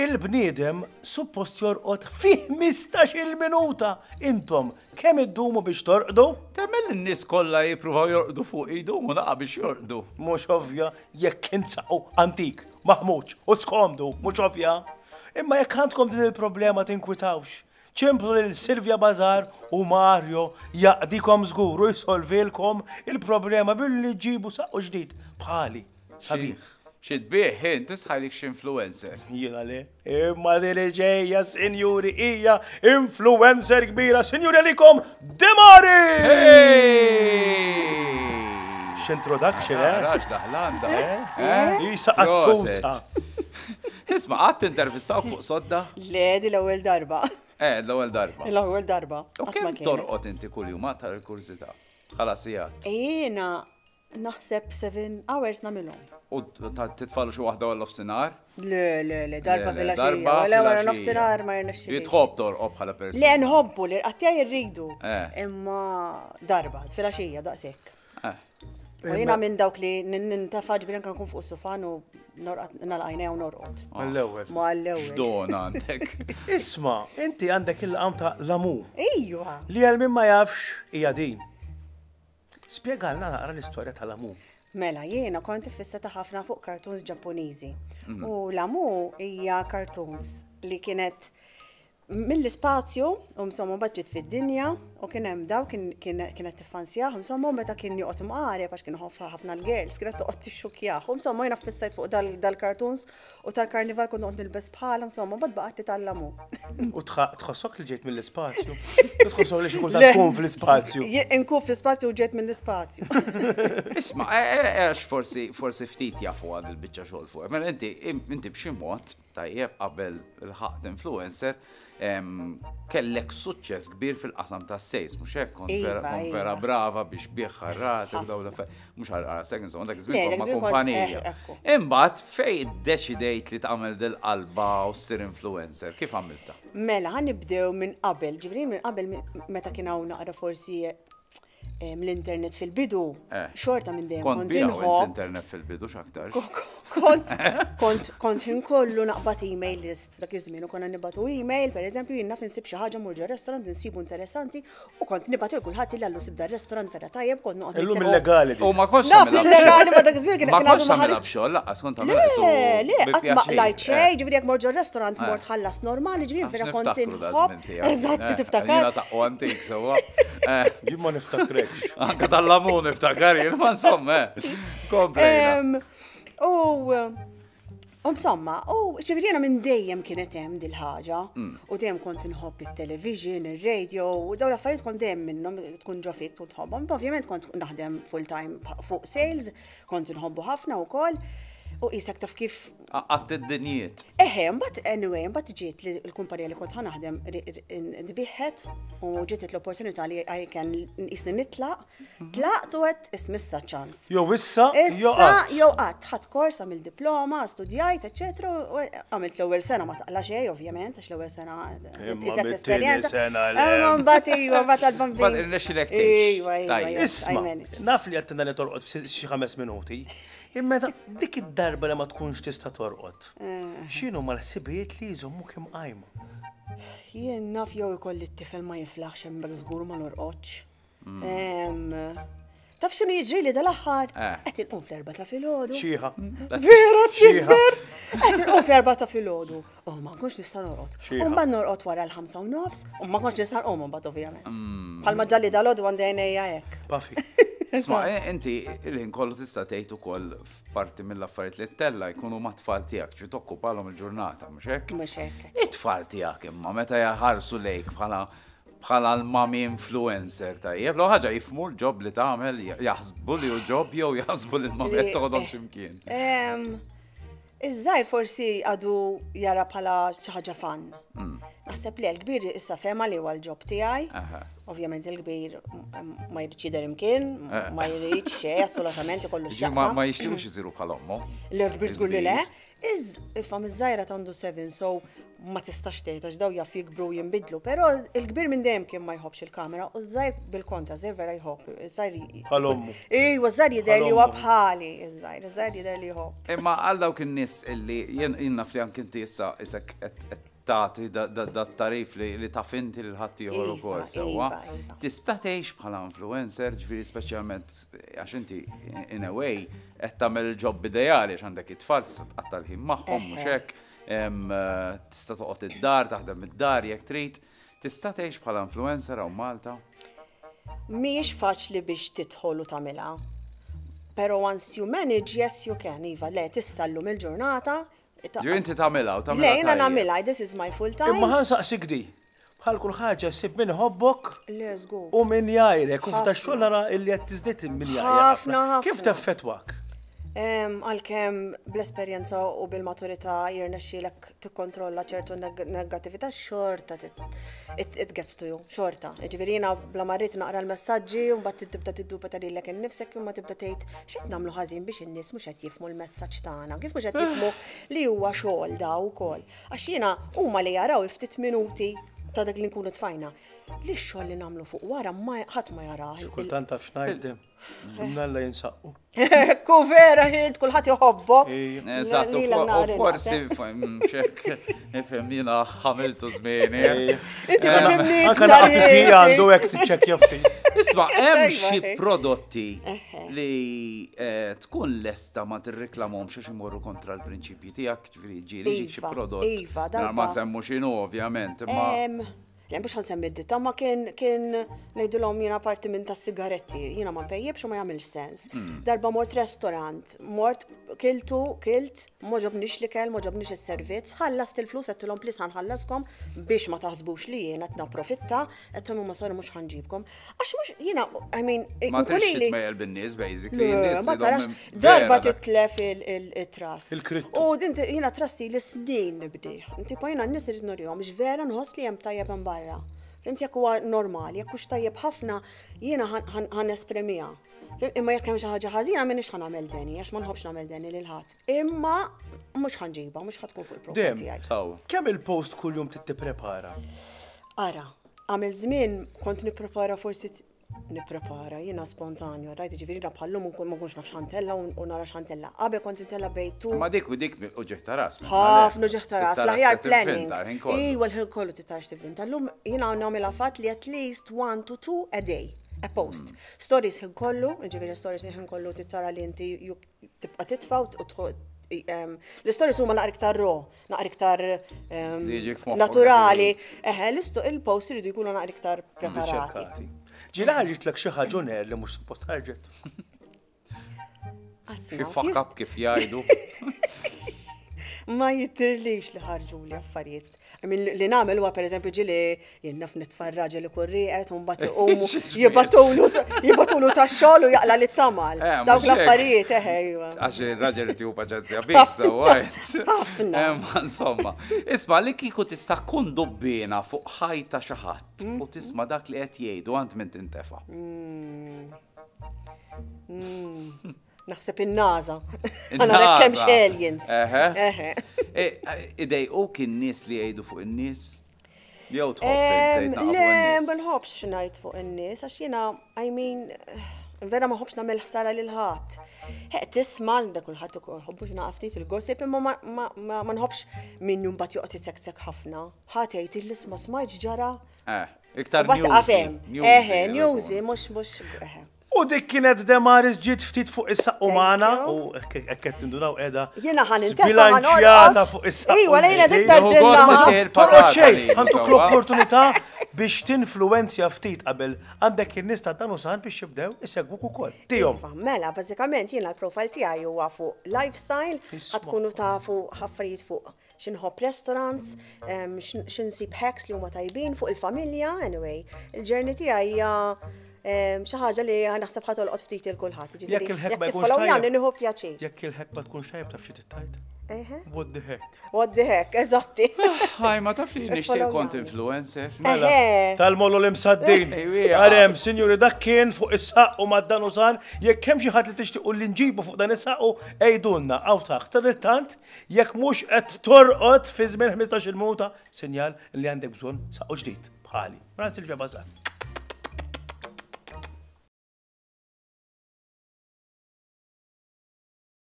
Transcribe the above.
Il-bniedem suppost jorqod fi 15-il minuta. Intom kemm iddumu biex torqdu? Temmen li n-nies kollha jippruvaw jorqdu fuq idumu naqa' biex jorqdu. Mhux ovvja jekk intsaqu antik, maħmuġ u skomdu, mhux ovvja. Imma jekk għandkom din il-problema tinkwitawx. Ċemplu lil Silvia Bazar u Mario jaqdikom żgur u jsolvilkom il-problema billi ġġibu saqqu ġdid bħali. Sabiħ. Xi tbigħ int tisħajlik xi influencer. Jiena le. Imma din li ġejja, sinjuri, hija influencer kbira. Sinjuri għalikom, Demari! X'introduction, eh? Rax daħlanda. Eh? eh? Isa qattusa. Isma' qatt intervistawk fuq sodda? Le, di l-ewwel darba. Eh, l-ewwel darba. L-ewwel darba. U kemm torqod inti kuljum għad tal-kurżità? Bħala sigħat. Jiena Naħseb 7 hours nagħmilhom. U titfalu xi waħda wara nofsinhar? Le, le, le, darba fil-għaxija. Wala wara nofsinhar ma jirnexxilix. Tħobb torqob bħala persuna. Le, nħobbu li rqattija jirridu. Eh. Imma darba fil-għaxija daqshekk. Eh. U jiena minn dawk li nintafa ġifieri anke nkun fuq sufan u nalqajna u norqod. Mal-ewwel. Mal-ewwel. X'don għandek. Isma', inti għandek il-laqam ta' Lamu. Ejwa. Li għal min ma jafx hija din. Spjegalna naqra l-istorja tal-Amu. Mela, jiena kont iffissata ħafna fuq cartoons Ġappuniżi. Mhm. U l-Amu hija cartoons li kienet mill-ispazju, u insomma mbagħad ġiet fid-dinja, u kien hemm daw kienet tiffansjah, insomma meta kien joqgħod imqareb għax kien ħafna l-girls, kienet toqgħod tixxukjah. U insomma jiena ffissajt fuq dal-cartoons U tal-karnival kont noqgħod nilbes bħala, insomma, mbagħad baqgħet li tal-lamu. U tħossok li ġejt mill-ispazju? Tħossok li xi kultant tkun fl-ispazju? Inkun fl-ispazju u ġejt mill-ispazju. Isma', e, e, e, għax forsi forsi ftit jafu għad il-biċċa xogħol fuq. Mela inti inti b'xi mod tajjeb qabel il-ħaqt influencer kellek suċċess kbir fil-qasam ta' sales, mhux hekk kont vera, iva, kont vera iva. brava biex bieħ rasek dawn l-affarijiet, mhux għal rasek, insomma dak iż-żmien kont ma' kumpanija. Eh, Imbagħad fej iddeċidejt li tagħmel dil-qalba u ssir influencer, kif għamilta? Mela, ħa nibdew minn qabel, ġifieri minn qabel meta kien hawn naqra forsi l-internet fil-bidu, eh. xorta minn dejjem kont inħobb. L-internet fil-bidu x'aktar. Kont, kont, kont ħin kollu naqbad email list dak iż-żmien u konna nibatu email, per eżempju, jien naf insib xi ħaġa mur ġo restaurant insibu interessanti u kont nibgħat il kulħadd li għallu sib dar restaurant vera tajjeb kont noqgħod. Illum illegali. U ma kontx Naf illegali ma dak iż-żmien kien Ma kontx tagħmilha b'xogħol laqqas kont tagħmilha Le, le, qatt ma qlajt xejn, eh. ġifieri jekk mort ġo restaurant eh. mort ħallas normali, ġifieri vera kont inħobb. Eżatt, tiftakar. Jiena saqqu antik sewwa. Jien ma niftakrekx. Anka tal-lamu niftakar jien ma insomma. Komplejna. U insomma, u ġifieri jiena minn dejjem kienet hemm dil-ħaġa. Mm. U dejjem kont inħobb it-television, ir-radio, u dawn l-affarijiet kont dejjem minnhom tkun ġo fik tkun tħobbhom. Ovvjament kont naħdem full time fuq sales, kont inħobbu ħafna wkoll. U qisek taf kif. Għatt id-dinjiet. Eħe, mbagħad anyway, mbagħad ġiet li l-kumpanija li kont ħanaħdem tbiħħet u ġiet l-opportunità li I can nqisni nitlaq. Tlaqt u għedt ismissa ċans. Jew issa, jew qatt. Jew qatt, ħadt kors, għamilt diploma, studjajt, eċetera, u għamilt l-ewwel sena ma taqla xejn, ovvjament, għax l-ewwel sena iżek l-esperjenza. Imma mbagħad iva, mbagħad għall-bambin. Mbagħad irnexxilek tgħix. Iva, iva. Isma', naf li għedtilna li torqod f'xi ħames minuti, imma dik id-darba li ma tkunx tista' torqod, eh. x'inhuma l-ħsibijiet li jżommuk imqajma? Jien naf jew ikolli t-tifel ma jiflaħx hemmhekk żgur ma norqodx. Mm. Taf x'inhu jiġri li dal-aħħar? Eh. Qed inqum fl-erba ta' filgħodu. Xieħa. Vera tixber. Qed inqum fl-erba ta' filgħodu. U ma nkunx nista' norqod. U mbagħad norqod wara l-ħamsa u nofs, u ma nkunx nista' nqum mbagħad ovvjament. Mm. Bħalma ġalli dal-għodu għandi għajnejja hekk. Pafi. Isma' eh, inti il-ħin kollu tista' tgħid ukoll parti mill-affarijiet li tella jkunu ma' tfal tiegħek, ġi tokkupalhom il-ġurnata, mhux hekk? Mhux hekk. It-tfal tiegħek imma meta jaħarsu lejk bħala Bħala l-mommy influencer tajjeb, l ħaġa jifmu l-ġob li tagħmel, jaħsbu li hu ġob jew jaħsbu li l-mommy qed toħodhom x'imkien. Iż-żgħir forsi għadu jara bħala xi ħaġa fan. Mm. Naħseb li l-kbir issa fema li huwa l-ġob tiegħi. Ovvjament il-kbir ma jridx jidher imkien, eh. ma jridx xejn assolutament ikollu x'jaqsam. Ma jixtiequx isiru bħal ommu. L-kbir żgur li le. Iż, ifhem iż-żgħira għandu 7, so ma tistax tgħid għax daw jaf jikbru u jinbidlu, però il-kbir minn dejjem kien ma jħobbx il-kamera u ż-żgħir bil-kontra, żgħir vera jħobb. Żgħir Bħal ommu. Ejwa, żgħir jidher li huwa bħali, iż-żgħir, iż-żgħir jidher li jħobb. Imma għal dawk in-nies illi jien naf li anke inti issa isek qed tagħti dat-tarif li taf inti lil ħaddieħor Iva, ukoll sewwa. iva, iva. Tista' tgħix bħala influencer, ġifieri speċjalment għax inti in a way qed tagħmel il-job ideali għax għandek it-tfal tista' tqatta' l-ħin magħhom mhux hekk, tista' toqgħod id-dar, taħdem id-dar jekk trid. Tista' tgħix bħala influencer hawn Malta? Mhijiex faċli biex tidħol u tagħmilha. Pero once you manage, yes you can, Iva, le tista' llum il-ġurnata. Ġifieri inti tagħmilha u tagħmilha. Le, jiena tajjeb. nagħmilha, this is my full time. Imma ħa nsaqsik di. Bħal kull ħaġa ssib min iħobbok Le, żgur. u min jgħajrek. U f'da xogħol nara illi qed tiżdied min jgħajrek. Ħafna, ħafna. Kif teffettwak? Għalkemm bl-esperjenza u bil-maturità jirnexxielek tikkontrolla ċertu negattività, xorta it gets to you, xorta. Ġifieri jiena bla ma rrid naqra l-messaġġi u mbagħad tibda tiddubita lilek innifsek imma tibda tgħid x'qed nagħmlu ħażin biex in-nies mhux qed jifhmu l-messaġġ tagħna, kif mhux qed jifhmu li huwa xogħol da wkoll. Għax jiena huma li jaraw il-ftit minuti ta' dak li nkunu tfajna. Li x-xogħol li nagħmlu fuq wara ma ħadd ma jarah. Xi kultant taf x'ngħid, Mnalla jinsaqqu. Ku vera ħilt kulħadd iħobbok. Eżatt, u forsi xek, ifhem jiena ħamiltu żmieni. Inti tifhimni. Anke naqra pipi għandu hekk tiċċekkja ftit. Isma' hemm xi prodotti li tkun lesta ma tirriklamhomx għax imorru kontra l-prinċipji tiegħek, ġifieri ġieli ġik xi prodott. Iva, darba. Ma semmu x'inhu ovvjament, imma. Le, mhux ħa nsemmi d-ditta, ma kien kien ngħidulhom jiena parti minn tas-sigaretti, jiena ma npejjibx u ma jagħmilx sens. Darba mort restaurant, mort kiltu, kilt, m'għoġobnix l-ikel, m'għoġobnix is-servizz, ħallast il-flus għedtilhom please ħa nħallaskom biex ma taħsbux li jiena qed napprofitta, għedtilhom huma sorry mhux ħa nġibkom. Għax mhux jiena, I mean, Ma tridx titmejjel bin-nies basically, in-nies Ma tarax, darba titlef il-trust. Il-krittu. U din jiena trust ili snin nibdih. Tipo jiena n-nies irid nurihom x'vera nħoss li hemm tajjeb hemm barra. Fimt jekk huwa normali, jekk hux tajjeb ħafna, jiena ħa nesprimiha. Imma jekk hemm xi ħaġa ħażina m'iniex ħa nagħmel deni, għax ma nħobbx nagħmel deni lil ħadd. Imma mhux ħa nġibha, mhux ħa tkun fuq il-profil Dem, tiegħi. Kemm il-post kuljum tittiprepara? Ara, għamil żmien kont nipprepara forsi nipprepara, jiena spontanju, rajt ġifieri jiena bħallum ma nkunx naf x'ħa ntella' u nara x'ħa ntella'. Qabel kont intella' bejn tu. Ma dik u dik uġigħ ta' ras. Ħafna uġigħ ta' ras, l-aħjar planning. Iwa l-ħin kollu titarax tivvinta. Llum jiena nagħmilha fatt li at least 1 to 2 a day, a post. Stories ħin kollu, ġifieri stories ħin kollu titara li inti tibqa' titfa' u l-stories huma naqra iktar raw, naqra iktar naturali. Eħe, il-post iridu jkunu naqra iktar preparati. Ġieli ħarġitlek xi ħaġa ner li mhux suppost ħarġet. Xi fuck up kif jgħidu. Ma jidhirlix li ħarġu li affarijiet. I mean, li nagħmel huwa pereżempju ġieli jien naf nitfa' r-raġel ikun rieqed u mbagħad iqumu jibgħatulu tax-xogħol u jaqla' lit-tamal. Dawk l-affarijiet, eħe, iva. Għax ir-raġel irid jieħu paċenzja bik, so għajt. Ħafna. Ma insomma. Isma' li kieku tista' tkun dubbina fuq ħajta xi ħadd u tisma' dak li qed jgħidu għand min tintefa'. Naħseb in-NASA. Għana kemm aliens. Eħe. Idejquk in-nies li jgħidu fuq in-nies? Jew tħobb Le, ma nħobbx ngħid fuq in-nies, għax jiena, I mean, vera ma nħobbx nagħmel ħsara lil ħadd. Tisma' da kulħadd iħobbux naqaf ftit il-gossip, imma ma nħobbx min mbagħad joqgħod isekksek ħafna. Ħadd jgħid il-isma smajt ġara. Iktar newsy. Eħe, newsy, mhux mhux. U dik kienet Demaris ġiet ftit fuq is-saqqu magħna u hekk qed tindunaw qiegħda. Jiena ħa Sbilanċjata fuq is-saqqu. Iwa, lejla dik tardilna. Torqod xejn, ħa ntuk l-opportunità biex tinfluwenzja ftit qabel għandek in-nies ta' dan u san biex jibdew isegwuk ukoll. Tihom. Iva, mela, bażikament jiena l-profile tiegħi huwa fuq lifestyle, ħa tkunu tafu affarijiet fuq x'inħobb restaurants, x'insib hacks li huma tajbin fuq il-familja, anyway. Il-journey tiegħi hija Xi ħaġa li naħseb ħa tolqot ftit il kulħadd. Jekk il-ħek ma jkunx tajjeb. Nieħu pjaċir. Jekk il-ħek ma tkunx tajjeb taf xi tittajt. What the heck? What the heck, eżatti. Ħaj, ma taf li nixtieq kont influencer. Mela, tal-mollu l-imsaddin. Għarem, sinjuri, dak kien fuq is-saqqu ma' dan użan, jekk hemm xi ħadd li tixtiequ li nġibu fuq dan is-saqqu, għidulna hawn taħt. Sadanittant, jekk mhux qed torqod fi żmien 15-il minuta, sinjal li għandek bżonn saqqu ġdid bħali. Mela, Silvia Bazar.